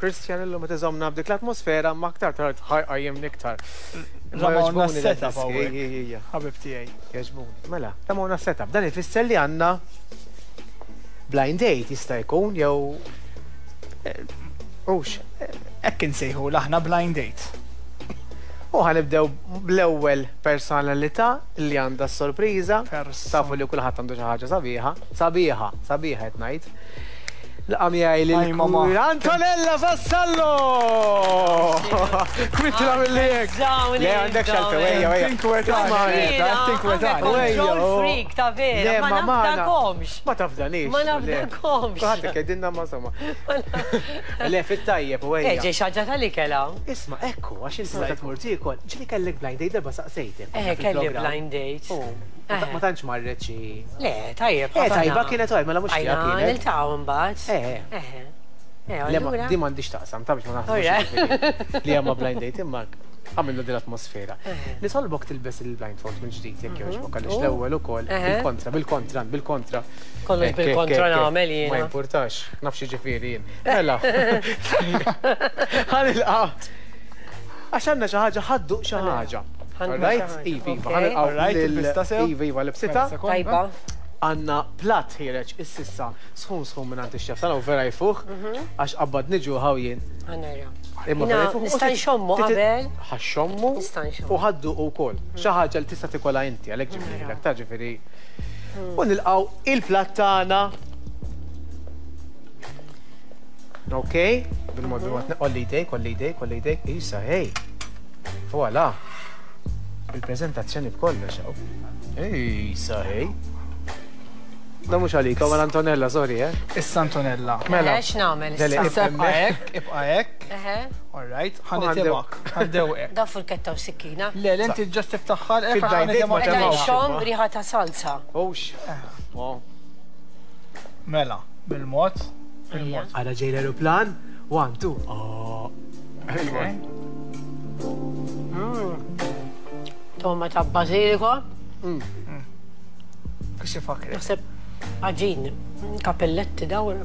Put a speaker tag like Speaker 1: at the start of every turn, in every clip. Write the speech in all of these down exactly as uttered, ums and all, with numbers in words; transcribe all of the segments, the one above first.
Speaker 1: Christian illum qed iżommna b'dik l-atmosfera ma aktar tard ħa jqajjimni iktar.
Speaker 2: Ramawna s-setup hawnhekk. Ħabib tiegħi.
Speaker 1: Jogħġbuni. Mela, ramawna s-setup. Dan ifisser li għandna blind date jista' jkun jew Ux.
Speaker 2: Hekk insejħu aħna blind date.
Speaker 1: U ħa nibdew bl-ewwel personalità li għandha s-sorpriża. Tafu li kulħadd għandu xi ħaġa sabiħa. Sabiħa, sabiħa qed ngħid. Laqa miegħi lil Antonella Vassallo! Kwitra mill-li hekk. Le għandek xalta, ejja, ejja.
Speaker 2: Tinkwetani, tinkwetani.
Speaker 3: Control freak ta' vera, ma nafdakomx.
Speaker 1: Ma tafdanix.
Speaker 3: Ma nafdakomx.
Speaker 1: Kulħadd kedinna ma somma. Le fit-tajjeb u ejja.
Speaker 3: Eh, ġej xaġa tal-ikela.
Speaker 1: Isma' ekku, għax inti meta tmur tiekol, ġieli kellek blind date darba saqsejtek.
Speaker 3: Eh, kelli blind date.
Speaker 1: Ma tantx marret xi.
Speaker 3: Le, tajjeb.
Speaker 1: Eh, tajba kienet għaj, mela mhux
Speaker 3: kienet. Niltaqgħu mbagħad.
Speaker 1: Eh.
Speaker 3: Eh.
Speaker 1: Le, di m'għandix taqsam, ta' biex ma naħsibx li hemm blind date imma għamilna din l-atmosfera. Nitolbok tilbes il-blindfold minn ġdid jekk jogħġbok għaliex l-ewwel ukoll bil-kontra, bil-kontra, bil-kontra.
Speaker 3: Kollox bil-kontra nagħmel jien.
Speaker 1: Ma jimpurtax, naf xi ġifieri jien. Mela. Ħa nilqa'. Għax għandna xi ħaġa ħaddu xi ħaġa. Right? Iva, iva, ħanilqgħu. Iva, iva, libsita.
Speaker 3: Tajba.
Speaker 1: Għandna platt ħiereġ ississa sħun sħun minn għand ix-xef tagħna u vera jfuħ għax qabbad niġu ħaw jien.
Speaker 3: Imma vera jfuħ. Nista' nxommu qabel.
Speaker 1: Ħa xommu u ħaddu wkoll. Xi ħaġa li tista' tikolha inti għalhekk ġifieri ta' ġifieri. U nilqgħu il-platt tagħna. Ok, bil-mod bil-mod olli jdejk, olli jdejk, olli jdejk, isa, hej. Voilà. Il-preżentazzjoni b'kollox hawn. Isa, hej. Da mhux għalik, għal Antonella, sorry, eh?
Speaker 2: Issa Antonella.
Speaker 3: Mela. X'nagħmel
Speaker 2: issa? Ibqa' hekk, ibqa' hekk. All right, ħa nitimak, ħa ndewqek.
Speaker 3: Da furketta u sikkina.
Speaker 2: Le, le inti ġast tiftaħħal,
Speaker 1: ħa nitimak.
Speaker 3: Xom riħa ta' salsa.
Speaker 1: Ux.
Speaker 2: Mela, bil-mod, bil-mod.
Speaker 1: Għara ġej l-aeroplan, one, two, oh.
Speaker 3: Toma ta' bażiliko.
Speaker 2: Kux ifakri.
Speaker 3: Naħseb għaġin, kapelletti dawn.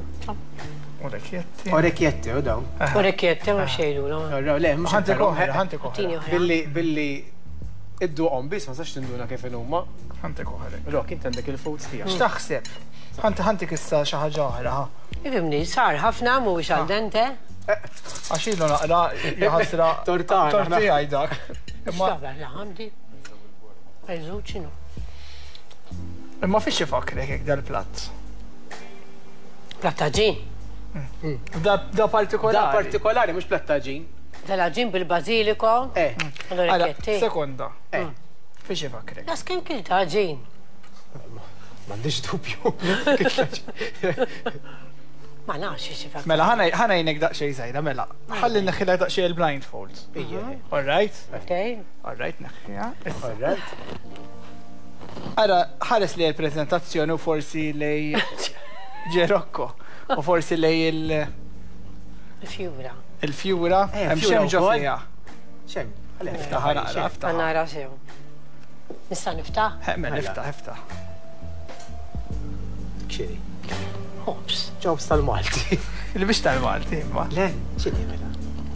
Speaker 2: Orecchietti.
Speaker 1: Orecchietti, u dawn.
Speaker 3: Orecchietti, ma xejdu.
Speaker 1: Le, mhux
Speaker 2: ħantik oħra, ħantik oħra.
Speaker 1: Billi, billi, idduqhom biss ma sax tinduna kif huma.
Speaker 2: Ħantik oħra.
Speaker 1: Rok, int għandek il-foods tiegħek.
Speaker 2: X'taħseb? Ħanti ħantik issa xi ħaġa oħra, ha.
Speaker 3: Ifimni, sar ħafna mhuwiex al dente.
Speaker 2: Għax ilu naqra jaħasra.
Speaker 1: Tortana.
Speaker 2: Tortija dak.
Speaker 3: Imma. Għandi. Għajżuċinu.
Speaker 2: Imma fiex ifakrek hekk dal-platt?
Speaker 3: Platt għaġin.
Speaker 2: Da, da partikolari.
Speaker 1: Da partikolari, mhux platt għaġin.
Speaker 3: Dal-għaġin bil-bażiliko.
Speaker 1: Eh.
Speaker 3: Orecchietti.
Speaker 2: Sekonda. Eh. Fiex ifakrek?
Speaker 3: Das kemm kilt għaġin?
Speaker 1: M'għandix dubju.
Speaker 3: Ma nafx xi fakrek.
Speaker 2: Mela ħanajnek daqsxejn żgħira, mela. Ħalli neħħilha daqsxejn il-blindfold. All right?
Speaker 3: Okay.
Speaker 2: All right, neħħiha.
Speaker 1: All right.
Speaker 2: Ara, ħares li l-prezentazzjoni u forsi lej Ġerokko u forsi lej il-
Speaker 3: Il-fjura.
Speaker 2: Il-fjura, hemm xem ġo fiha.
Speaker 1: Xem,
Speaker 2: niftaħ naqra, niftaħ.
Speaker 3: Nara sew. Nista' niftaħ?
Speaker 2: Mela, niftaħ, niftaħ.
Speaker 1: Xiri.
Speaker 3: Ħobs.
Speaker 1: Ġobs tal-Malti.
Speaker 2: Il-biex tal-Malti, imma.
Speaker 1: Le, xiri mela.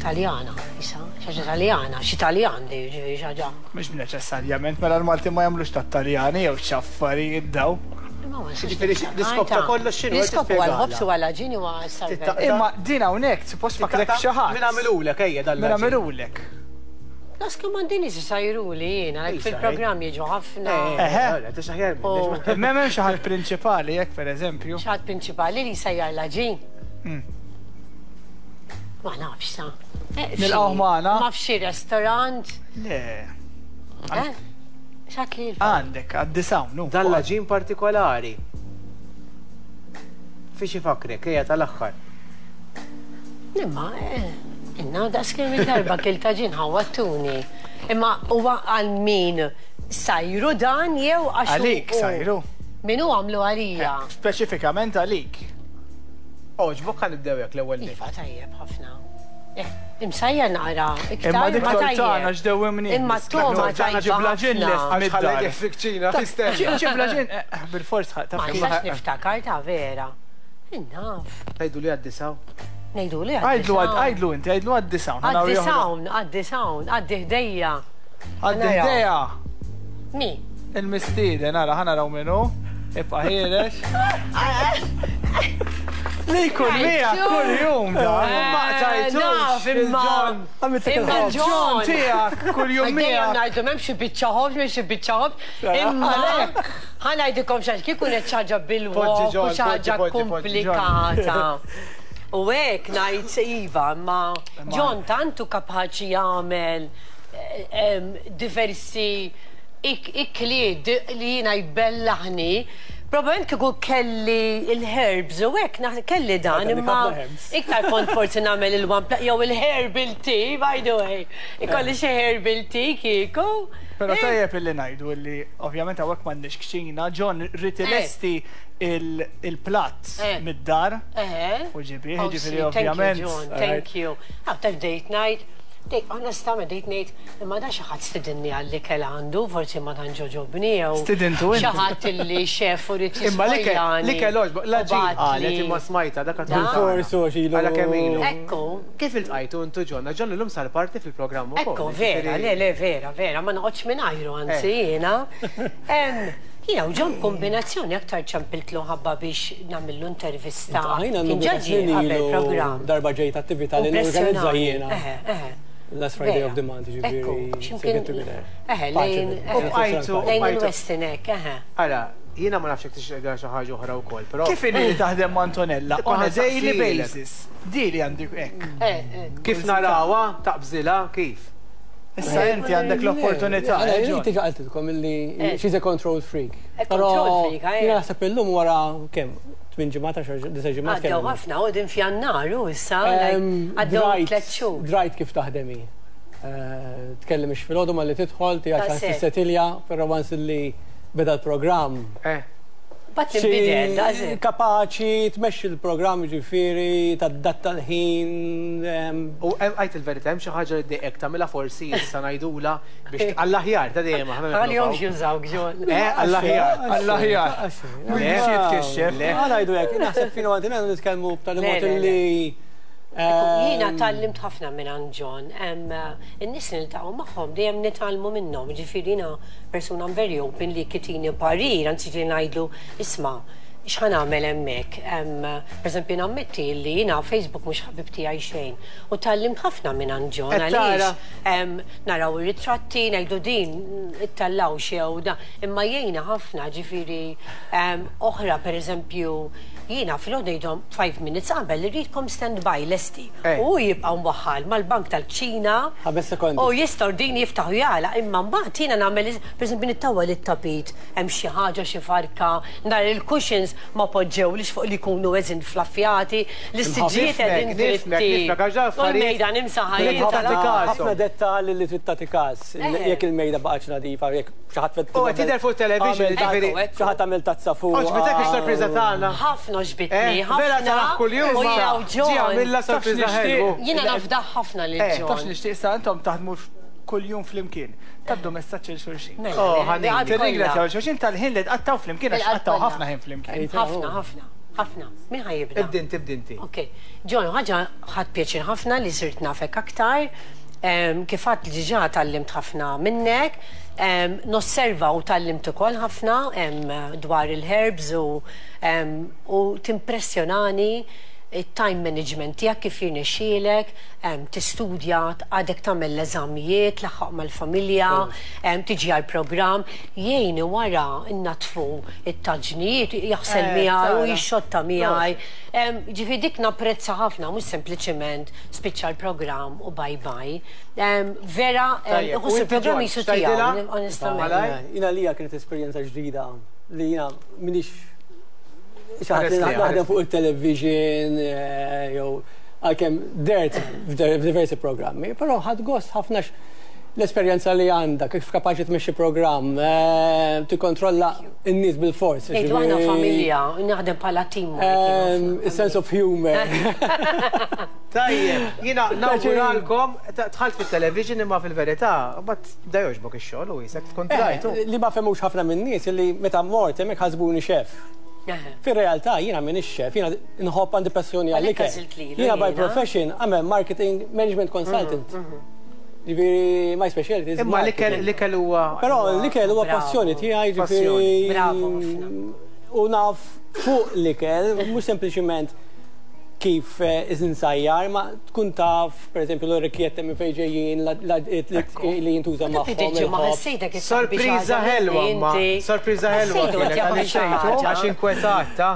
Speaker 3: Taljana, isa, xaġa Taljana, xi Taljan di ġifieri xaġa.
Speaker 2: Mhux neċessarjament, mela l-Malti ma jagħmlux tat-Taljani jew x'affarijiet daw.
Speaker 1: Ġifieri l-iskop ta' kollox x'inhu?
Speaker 3: L-iskop huwa l-ħobs u għall-għaġin huwa s-salver.
Speaker 2: Imma din hawnhekk suppost fakrek xi ħadd.
Speaker 1: Min għamilulek ejja dan.
Speaker 2: Min għamilulek.
Speaker 3: Las kemm għandini si sajruli jiena, għalhekk fil-programm jiġu ħafna.
Speaker 2: Eħe. Imma hemm xi ħadd prinċipali jekk pereżempju.
Speaker 3: Xi ħadd prinċipali li jsajjar l-għaġin. Ma nafx sa.
Speaker 2: Nilqgħu magħna.
Speaker 3: Ma f'xi restorant.
Speaker 2: Le.
Speaker 3: Eh? X'għad li
Speaker 2: Għandek, għad-disawnu.
Speaker 1: Dan l-għaġin partikolari. Fiex ifakrek, ejja tal-aħħar.
Speaker 3: Imma, inna daqs kemm il-darba kilt għaġin ħawwattuni. Imma huwa għal min sajru dan jew għax.
Speaker 2: Għalik sajru.
Speaker 3: Min hu għamlu għalija?
Speaker 2: Speċifikament għalik.
Speaker 1: Oġbok ħa nibdew hekk l-ewwel.
Speaker 3: Iva tajjeb ħafna. Imsajja naqra.
Speaker 2: Imma dik tortana x'dewwimni.
Speaker 3: Imma t-toma tajba.
Speaker 2: Ġibla ġin lest
Speaker 1: mid-dar. Fil-kċina,
Speaker 2: Ġibla ġin, bil-fors
Speaker 3: Ma nistax niftakar ta' vera. Innaf.
Speaker 1: Tajdu li għaddisaw.
Speaker 3: Ngħidu li
Speaker 2: Għidlu għidlu inti, għidlu għaddi s'hawn.
Speaker 3: Għaddi s'hawn, għaddi s'hawn, għaddi ħdejja.
Speaker 2: Għaddi ħdejja.
Speaker 3: Mi?
Speaker 2: Il-mistieden, ara, ħa naraw min hu. Ibqa' ħieles. Li jkun miegħek kull jum dan.
Speaker 1: Ma qtajtux.
Speaker 3: Imma. Imma
Speaker 2: John tiegħek kull jum miegħek.
Speaker 3: Ngħidu m'hemm xi biċċa ħobż, m'hemm xi biċċa ħobż. Imma ħa ngħidilkom xi kieku ħaġa bil-wok u xi ħaġa komplikata. U hekk ngħid iva, imma John tantu kapaċi jagħmel diversi ikliet li jiena jbellaħni. Probablement kieku kelli il-herbs u hekk kelli dan, imma iktar kont forsi nagħmel il-one plate jew il-herbal tea, by the way. Ikolli xi herbal tea kieku.
Speaker 2: Però tajjeb illi ngħidu illi ovvjament hawnhekk m'għandniex kċina, John ried ilesti il-platt mid-dar u ġibih, ġifieri ovvjament.
Speaker 3: John, thank you. Għaw taf date night. Dejt, onestament, dejt ngħid, imma da xi ħadd stidinni għall-ikel għandu, forsi ma tantx għoġobni jew.
Speaker 2: Stidintu inti.
Speaker 3: Xi ħadd illi xef u rid
Speaker 1: Imma l-ikel għoġbok, la ġi qalet imma smajta dak għad
Speaker 4: Forsu xilu.
Speaker 1: Għala kemm ilu.
Speaker 3: Ekku.
Speaker 1: Kif iltqajtu intu John? John illum sar parti fil-programm ukoll.
Speaker 3: Ekku, vera, le, le, vera, vera, ma noqgħodx mingħajru anzi jiena. Jiena u John kombinazzjoni aktar ċempiltlu ħabba biex nagħmillu intervista.
Speaker 4: Kien
Speaker 3: ġaġi qabel programm.
Speaker 4: Darba ġejt attività li norganizza jiena. Last Friday of the month, ġifieri.
Speaker 3: Eħe, lejn. Lejn il-Westin hekk, eħe.
Speaker 1: Ara, jiena ma nafx jekk tixtieq xi ħaġa oħra wkoll, però.
Speaker 2: Kif inhi li taħdem ma' Antonella on a daily basis? Di li għandek hekk.
Speaker 1: Kif narawha, taqbżilha, kif?
Speaker 2: Issa inti għandek l-opportunità.
Speaker 4: Inti qaltilkom illi she's a control freak.
Speaker 3: Control freak,
Speaker 4: jiena naħseb illum wara kemm? Tmien ġimgħat, għaxar disa' ġimgħat.
Speaker 3: Għaddew ħafna, u din f'Jannar u issa għaddew tliet xhur.
Speaker 4: Drajt kif taħdemi. Tkellem ix filgħodu malli tidħol, tiegħek ċans tissetilja, però once li beda l-programm.
Speaker 3: Bat tinbidel,
Speaker 4: Kapaċi tmexxi l-programm ġifieri, tadatta l-ħin.
Speaker 1: U għajt il-verità, hemm xi ħaġa li ddejqek tagħmilha forsi issa ngħidula biex għall-aħjar ta' dejjem aħna.
Speaker 3: Għalihom jużawk John.
Speaker 1: Eh, għall-aħjar.
Speaker 2: Għall-aħjar. Mhux biex jitkixxef.
Speaker 4: Ħa ngħidu hekk, naħseb fino għandina nitkellmu b'tali mod li
Speaker 3: Jiena tgħallimt ħafna minn John. In-nies li niltaqgħu magħhom dejjem nitgħallmu minnhom. Ġifieri jiena persuna very open li kitini parir, anzi li ngħidlu isma' x'ħa nagħmel hemmhekk. Pereżempju nammetti li jiena Facebook mhux ħabib tiegħi xejn. U tgħallimt ħafna minn John għaliex naraw ir-ritratti ngħidu din ittellgħu xew da. Imma jgħinna ħafna ġifieri oħra pereżempju jiena filgħodu ngħidhom five minutes qabel irridkom stand by lesti. U jibqgħu mwaħħal mal-bank tal-kċina.
Speaker 4: Ħames sekondi.
Speaker 3: U jistgħu din jiftaħu jagħlaq imma mbagħad jiena nagħmel pereżempju nittawwa lit-tapit hemm xi ħaġa xi farka nhar il-cushions ma poġġewlix fuq li jkunu eżin flaffjati, l-istiġijiet qegħdin dritti. U l-mejda nimsaħa
Speaker 4: Ħafna dettalji li trid tagħti każ. Jekk il-mejda baqgħetx nadifa, jekk xi ħadd
Speaker 1: U qed tidher fuq television, ġifieri.
Speaker 4: Xi ħadd għamel tazza fuq.
Speaker 1: Għoġbitek is-sorpriża tagħna.
Speaker 3: Ħafna għoġbitni,
Speaker 1: Vera
Speaker 3: ħafna.
Speaker 1: taraħ kuljum.
Speaker 3: U jiena u
Speaker 1: Ġi għamilha sorpriża ħelwu.
Speaker 3: Jiena nafdaħ ħafna lil
Speaker 2: Tafx
Speaker 3: John.
Speaker 2: nixtieq sa intom taħdmu kuljum flimkien. Taddu messaġġ il xulxin.
Speaker 1: Oh, ħanin.
Speaker 2: Tirringrazzjaw xulxin tal-ħin li tqattaw flimkien għax
Speaker 3: Il-qalb
Speaker 2: tqattaw
Speaker 3: kollha.
Speaker 2: ħafna ħin flimkien.
Speaker 3: Ħafna, ħafna, ħafna. Min ħa jibda?
Speaker 1: Ibdi inti, ibdi inti.
Speaker 3: Ok, John, ħaġa ħadt pjaċir ħafna li sirt nafek aktar. Kif għedt li diġà tgħallimt ħafna minnek, nosserva u tgħallimt ukoll ħafna dwar il-herbs u u timpressjonani il-time management tiegħek kif jirnexxielek, tistudja, għadek tagħmel l-eżamijiet, tlaħħaq mal-familja, tiġi għall-programm, jgħini wara innatfu it-taġnijiet, jaħsel miegħi u jixxotta miegħi. Ġifieri dik napprezza ħafna, mhux sempliċement spiċċa l-programm u bye bye. Vera, iħoss il-programm jisu tiegħu, onestament.
Speaker 4: Jiena lija kienet esperjenza ġdida li jiena m'iniex xi ħadd li naħdem fuq il-television, jew għalkemm dert f'diversi programmi, però ħadt gost ħafna l-esperjenza li għandha, kif kapaċi tmexxi programm, tikkontrolla n-nies bil-fors.
Speaker 3: Ngħidu aħna familja, naħdem bħala team.
Speaker 4: Sense of humor.
Speaker 1: Tajjeb, jiena nawguralkom, dħalt fit-television imma fil-verità, mbagħad da jogħġbok ix-xogħol u jisek tkun trajtu.
Speaker 4: Li ma fehmux ħafna min-nies li meta mort hemmhekk ħasbuni chef. Fir-realtà jiena m'iniex chef, jiena nħobb, għandi passjoni għall-ikel. Jiena by profession I'm a marketing management consultant. Ġifieri, my specialty is
Speaker 1: Imma l-ikel huwa.
Speaker 4: Però l-ikel huwa passjoni tiegħi, ġifieri.
Speaker 3: Bravo ħafna.
Speaker 4: U naf fuq l-ikel, mhux sempliċiment kif insajjar, ma tkun taf, per eżempju, l-orecchiette minn fejn ġejjin, li jintuża magħhom.
Speaker 1: Sorpriża ħelwa, ma. Sorpriża ħelwa kienet għaliex għax inkwetata.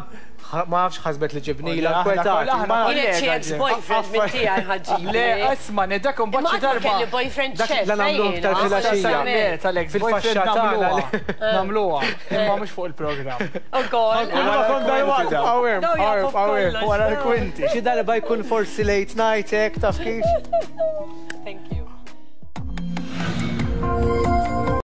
Speaker 1: Ma nafx ħasbet li ġibnila inkwetat.
Speaker 3: Kienet xi ex-boyfriend minn tiegħi ħaġġib.
Speaker 2: Le, isma' dak imbagħad xi darba.
Speaker 3: Kelli boyfriend chef.
Speaker 1: La nagħmlu iktar filgħaxija.
Speaker 2: Le, tal-ex-boyfriend nagħmluha. Nagħmluha, imma mhux fuq il-programm.
Speaker 3: Ukoll.
Speaker 1: Wara l-kwinti. Xi darba jkun forsi late night hekk, taf kif.
Speaker 3: Thank you.